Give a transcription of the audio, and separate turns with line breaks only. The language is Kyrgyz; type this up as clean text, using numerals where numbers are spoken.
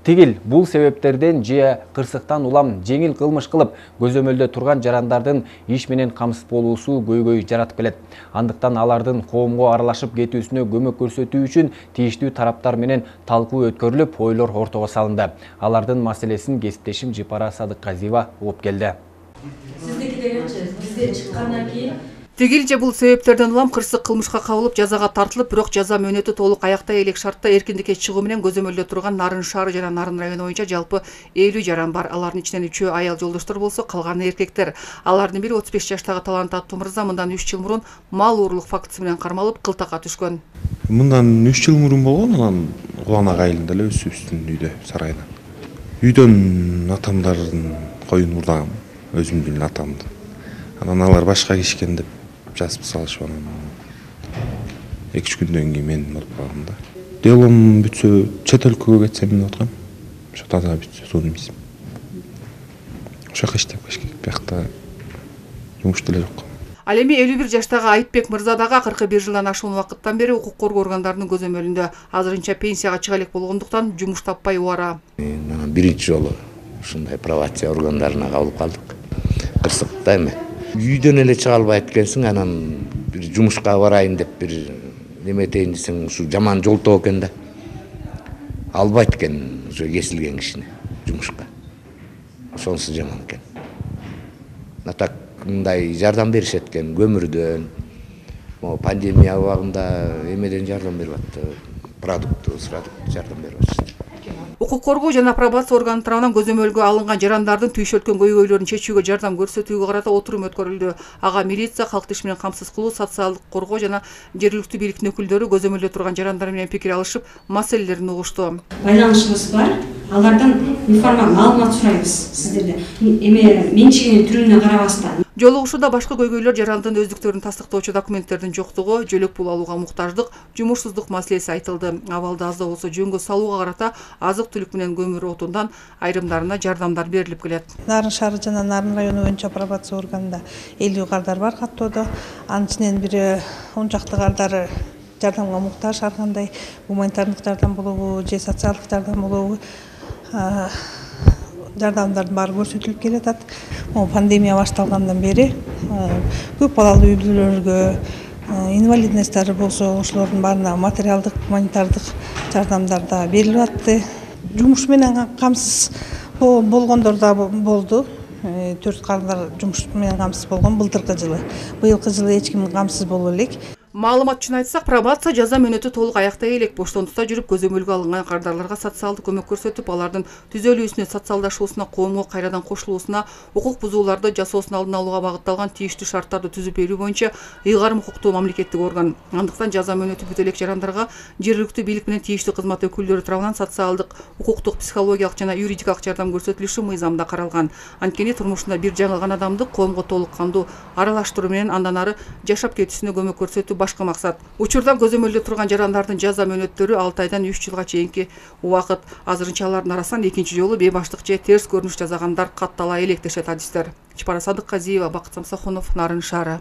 Тигил бул себептерден же кырсыктан улам жеңил кылмыш кылып, көзөмөлдө турган жарандардын иш менен камсыз болуусу көйгөй жаратып келет. Андыктан алардын коомго аралашып кетүүсүнө көмөк көрсөтүү үчүн тийиштүү тараптар менен талкуу өткөрүлүп, ойлор ортого салынды. Алардын маселесин кесиптешим Жипара Садыкказиева угуп келди.
Сиздики дегенчи, бизде чыккандан кийин
Тигил же бул себептерден улам кырсык кылмышка кабылып, жазага тартылып, бирок жаза мөөнөтү толук аяктай элек шартта эркиндикке чыгуу менен көзөмөлдө турган Нарын шаары жана Нарын району боюнча жалпы 50 жаран бар. Алардын ичинен 3-өө аял жолдоштор болсо, калганы эркектер. Алардын бири 35 жаштагы Талант аттуу мырза мындан 3 жыл мурун мал уурлук фактысы менен кармалып, кылтакка түшкөн.
Мындан 3 жыл мурун болгон, анан Кубанак айылында эле өсүбүздүн үйдө, сарайынан. Үйдөн атамдардын коюн урдагам, өзүмдүн атамды. Анан алар башка кишкен деп жазып салышып, анан 2-3 күндөн кийин мен болуп калдым да. Делом бүтсө, чет өлкөгө кетсем деп аткам. Ошо таза бүтсө, судимизм. Ошо жака иштеп кеш керек. Биякта жумуш деле жок.
Ал эми 51 жаштагы Айтбек мырза дагы 41 жылдан ашуун убакыттан бери укук коргоо органдарынын көзөмөлүндө. Азырынча пенсияга чыга элек болгондуктан жумуш таппай убара.
Мен биринчи жолу ушундай пробация органдарына кабылып калдык. Кырсыкта эме. Үйдөн эле чыга албайт экенсиң, анан бир жумушка барайын деп бир неме этейин десең, ушу жаман жолтоо экен да. Албайт экен ушу кесилген кишини жумушка. Ошонусу жаман экен. Атак мындай жардам беришет экен көмүрдөн, пандемия убагында эмеден жардам берип атты, продукт жардам берип атышты.
Укук коргоо жана пробация органы тарабынан көзөмөлгө алынган жарандардын түйшөлткөн көйгөйлөрүн чечүүгө жардам көрсөтүүгө карата отурум өткөрүлдү. Ага милиция, калктын иш менен камсыз кылуу, социалдык коргоо жана жергиликтүү бийликтин өкүлдөрү көзөмөлдө турган жарандар менен пикир алышып, маселелерин угушту.
Байланышыбыз бар. Алардан маалымат сурайбыз сиздерден. Эме менчигинин түрүнө карабастан.
Жолугушууда башка көйгөйлөр жарандын өздүктөрүн тастыктоочу документтердин жоктугу, жөлөк пул алууга муктаждык, жумушсуздук маселеси айтылды. Абалды аз да болсо жөнгө салууга карата азык-түлүк менен көмүр отундан айрымдарына жардамдар берилип келет.
Нарын шаары жана Нарын району боюнча пробация органында 50 кардар бар каттоодо. Анын ичинен бири 10 чакты кардары жардамга муктаж, ар кандай гуманитардык жардам болобу же социалдык жардам болобу жардамдардын баары көрсөтүлүп келатат. Пандемия башталгандан бери көп балалуу үй бүлөлөргө, инвалидностьтары болсо, ошолордун баарына материалдык, гуманитардык жардамдар да берилип атты. Жумуш менен камсыз болгондор да болду. 4 кардар жумуш менен камсыз болгон былтыркы жылы. Быйылкы жылы эч ким камсыз боло элек.
Маалымат үчүн айтсак, пробация жаза мөөнөтү толук аяктай элек. Боштондукта жүрүп көзөмөлгө алынган кардарларга социалдык көмөк көрсөтүп, алардын түзөлүүсүнө, социалдашуусуна, коомго кайрадан кошулуусуна, укук бузууларды жасоосун алдын алууга багытталган тийиштүү шарттарды түзүп берүү боюнча ыйгарым укуктуу мамлекеттик орган. Андыктан жаза мөөнөтү бүт элек жарандарга жергиликтүү бийлик менен тийиштүү кызмат өкүлдөрү тарабынан социалдык, укуктук, психологиялык жана юридикалык жардам көрсөтүлүшү мыйзамда каралган. Анткени турмушунда бир жаңылган адамды коомго толук кандуу аралаштыруу менен андан ары жашап кетүүсүнө көмөк көрсөтүү башка максат. Учурдан көзөмөлдө турган жарандардын жаза мөөнөттөрү 6 айдан 3 жылга чейинки убакыт. Азырынча алардын арасынан экинчи жолу бейбаштык же терс көрүнүш жасагандар каттала элек дешет адистер. Жипара Садыкказиева, Бакыт Самсахунов, Нарын шаары.